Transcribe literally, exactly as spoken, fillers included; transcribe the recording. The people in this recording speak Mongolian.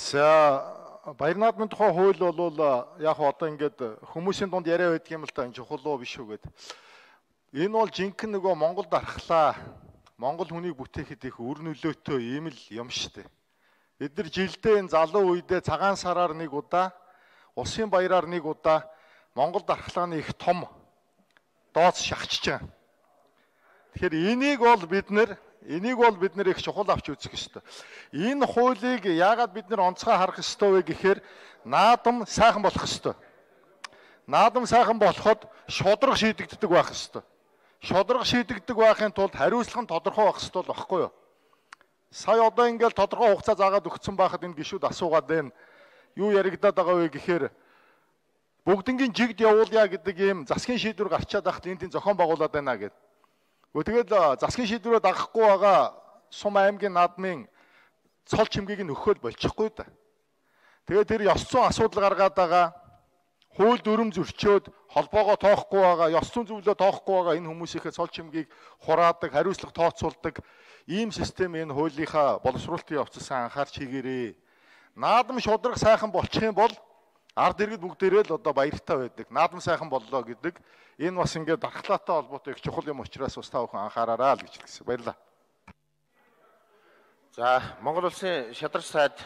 За баяр наадмын тухай хууль бол яг одоо ингээд хүмүүсийн дунд яриа байдаг юм л та энэ чухал уу биш үү гэдэг. Энэ бол жинхэнэ нөгөө Монголд архлаа. Монгол хүнийг бүтээхэд их үр нөлөөтэй ийм л юм шүү дээ. Бид нар жилдээ энэ залуу үедээ цагаан сараар нэг удаа, усын баяраар нэг удаа Монголд архлааны их том дооц шахчихж байгаа. Тэгэхээр энийг бол бид нэр энийг бол бид нэр их чухал авч үзэх ёстой. Энэ хуулийг яагаад бид нэр онцгой харах ёстой вэ гэхээр наадам сайхан болох ёстой. Наадам сайхан болоход шударга шийдэгддэг байх ёстой. Шударга шийдэгддэг байхын тулд хариуцлага нь тодорхой байх ёстой байхгүй юу? Сая одоо ингээл тодорхой хугацаа заагаад өгсөн байхад энэ гишүүд асуугаад байна. Юу яригадаад байгаа вэ гэхээр бүгднгийн жигд явуулъя гэдэг ийм засгийн шийдвэр гарчаад байхад энэ тийм зохион байгуулад байна гэдэг. Тэгэл засгийн шийдвэрээ дагахгүй байгаа Сум аймгийн наадмын цол чимгийг нь өгөхөөл болчихгүй да. Тэгээд тэр ёс зүйн асуудал гаргаад байгаа, хууль дүрм зөрчөөд холбоогоо тоохгүй байгаа, ёс зүйн зөвлөө тоохгүй байгаа энэ хүмүүсийнхээ цол чимгийг хураадаг, хариуцлага тооцоолдог ийм систем энэ хуулийнхаа боловсруулалтын явцсан анхаарч хийгээрээ. Наадам шударга сайхан болчих юм бол ард иргэд бүгдээрээ л одоо баяртай байдаг. Наадам сайхан боллоо гэдэг энэ бас ингээд дархлаатай холбоотой их чухал юм учраас бас та бүхэн анхаараарай л гэж хэлсэн. Баярлалаа. За, Монгол улсын шадарч сайд